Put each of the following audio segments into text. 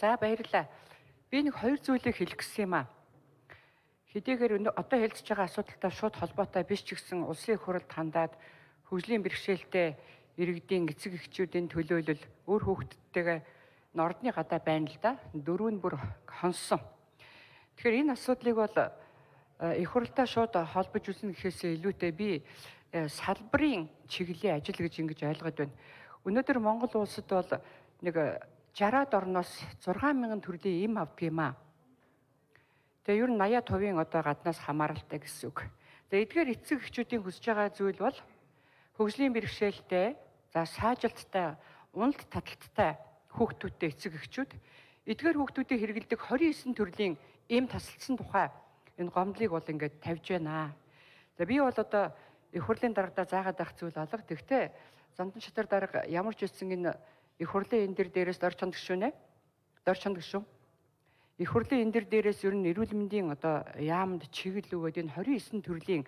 За баярлалаа. Би нэг хоёр зүйлийг хэлэх гэсэн юм аа. Хэдийгээр одоо хэлцэж байгаа асуудалтай шууд холбоотой биш ч гэсэн улсын их хурлд хандаад хөгжлийн бэрхшээлтэй иргэдийн эцэг эхчүүдийн төлөөлөл өөр хүүхдүүдтэйгээ нордны гадаа байна л да. Дөрөв нь бүр хонсон. Тэгэхээр энэ асуудлыг бол их хурлаа шууд холбож үзнэ гэхээсээ илүүтэй би салбарын чиглэлийн ажил гэж ингэж ойлгоод байна. Өнөөдөр Монгол улсад бол нэг 60-аад орноос 6,000 төрлийн эм авдаг юм аа. Тэгээ ер нь 80% одоо гаднаас хамааралтай гэсэн үг. За эдгээр эцэг эхчүүдийн хүсэж байгаа зүйл бол хөгжлийн бэрхшээлтэй, за саажилттай, уналт таталттай хүүхдүүдтэй эцэг эхчүүд эдгээр хүүхдүүдийг хэрэглэдэг 29 төрлийн эм тасалдсан тухай энэ гомдлыг бол ингээд тавьж байна. За би бол одоо их хурлын дарагдаа заагаад байх зүйл алга. Тэгвэл Зандан шатар дарга ямар ч үсэн энэ их хурлын энэ дээрээс дор чонд гişүнэ. Дор чонд гişүн. Их хурлын энэ дээрээс ер нь эрүүл мэндийн одоо яамд чиглэл өгөөд энэ 29 төрлийн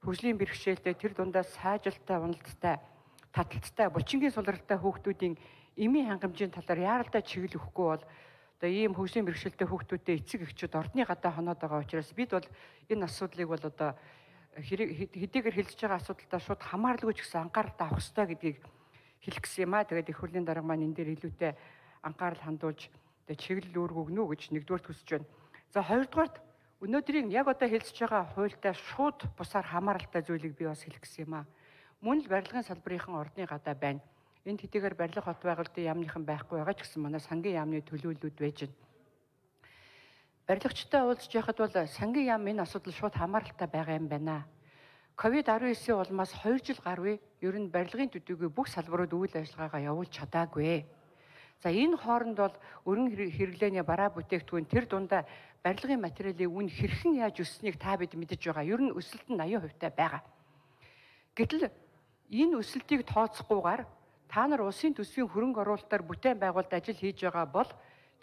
хөгжлийн бэрхшээлтэй тэр дундаас саажилттай, уналттай, таталттай, булчингийн сулралтай хүүхдүүдийн эмийн хангамжийн талаар яаралтай чиглэл өгөхгүй бол одоо ийм хөгжлийн бэрхшээлтэй хүүхдүүдтэй эцэг эхчүүд ордны гадаа хоноод байгаа учраас бид бол энэ асуудлыг бол одоо хэдийгээр хэлж байгаа асуудалтай шууд хамааралгүй ч гэсэн анхааралтай авах хэрэгтэй гэдгийг хэлэх гэсэн юм аа. Тэгээд их хурлын дарга маань энэ дээр илүүтэй анхаарал хандуулж тэгээд чиглэл үүрэг өгнө гэж нэгдүгээр төсөж байна. За хоёрдугаарт өнөөдрийн яг одоо хэлж байгаа хуультай шууд бусаар хамааралтай зүйлийг би бас хэлэх гэсэн юм аа. Мөн л барилгын салбарынхан ордны гадаа байна. Энд хэдийгээр барилга хот байгуулалтын яамныхан байхгүй байгаа ч гэсэн манай сангийн яамны төлөөллүүд байж байна. Барилгачтай уулзж яхад бол сангийн яам энэ асуудал шууд хамааралтай байгаа юм байна. COVID-19-ийн улмаас 2 жил гаруй ер нь барилгын төдийгүй бүх салбарууд үйл ажиллагаагаа явуулж чадаагүй. За энэ хооронд бол өргөн хэрэглээний бараа бүтээгдэхүүн тэр дундаа барилгын материалын үн хэрхэн яаж өсснийг та бид мэдэж байгаа. Ер нь өсөлт нь 80% таа байгаа. Гэтэл энэ өсөлтийг тооцохгүйгээр та нар улсын төсвийн хөрөнгө оруулалтаар бүтээн байгуулалт ажил хийж байгаа бол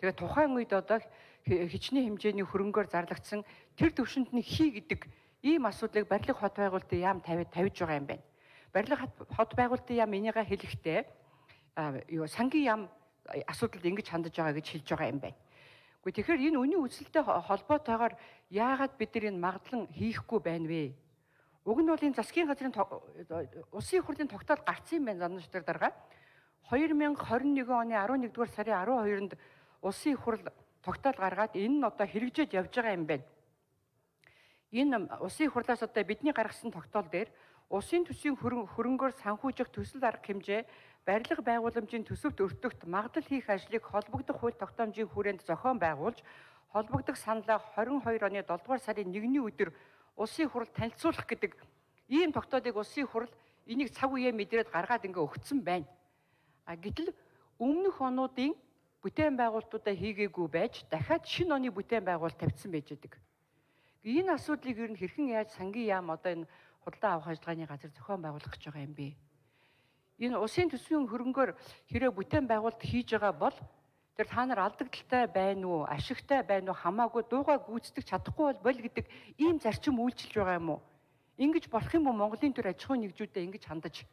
тэгээ тухайн үед одоо хичнээн хэмжээний хөрөнгөөр зарлагдсан тэр төвшөнд нь хий гэдэг ийм асуудлыг барилга хот байгуулалтын яам тавьж байгаа юм байна. Барилга хот байгуулалтын яам энийгээ хэлэхдээ сангийн яам асуудалд ингэж хандаж байгаа гэж хэлж байгаа юм байна. Гэхдээ тэгэхээр энэ үнийн өсөлттэй холбоотойгоор яагаад бид нар энэ магадлан хийхгүй байна вэ? Уг нь бол энэ засгийн газрын улсын их хурлын тогтоол гарсан юм байна Зандан шатар дарга. 2021 оны 11-р сарын 12-нд улсын их хурл тогтоол гаргаад энэ нь одоо хэрэгжиж явж байгаа юм байна. Энэ улсын их хурлаас одоо бидний гаргасан тогтоол дээр улсын төсвийн хөрөнгөөр санхүүжих төсөл арга хэмжээ, барилга байгууламжийн төсөвт өртөгт магадлал хийх ажлыг холбогдох хууль тогтоомжийн хүрээнд зохион байгуулж, холбогдох саналаа 22 оны 7-р сарын 1-ний өдөр улсын их хурл танилцуулах гэдэг ийм тогтоолыг улсын их хурл энийг цаг үеэ мэдрээд гаргаад ингээ өгцөн байна. Гэтэл өмнөх онуудын бүтээн байгуулалтуудаа хийгээгүй байж дахиад шинэ оны бүтээн байгуулалт тавьсан байж байгаа. Энэ асуудлыг ер нь хэрхэн яаж сангийн яам одоо энэ худалдаа авах ажиллагааны газар зохион байгуулах гэж байгаа юм бэ? Энэ улсын төсвийн хөрөнгөөр хэрэв бүтээн байгуулалт хийж байгаа бол тэр та нар алдагдaltaй байна уу, ашигтай байна уу хамаагүй дуугаа гүйцэтгэж чадахгүй бол гэдэг ийм зарчим үйлчилж байгаа юм уу? Ингэж болох юм уу Монголын төр аж ахуйн нэгжүүдэд ингэж хандаж?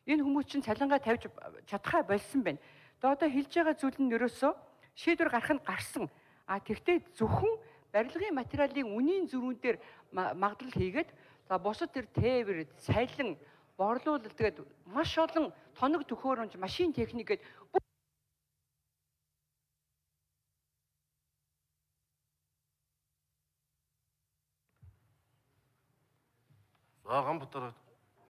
Энэ хүмүүс чинь цалингаа тавьж чадхаа болсон байна. Одоо хэлж байгаа зүйл нь ерөөсөө шийдвэр гарах нь гарсан. Тэгтээ зөвхөн барилгын материалын үнийн зөрүүн дээр магадлал хийгээд за бусад тэр тээвэр, сайлан, борлуулалт тэгээд маш олон тоног төхөөрөмж, машин техник гээд За Ганбатар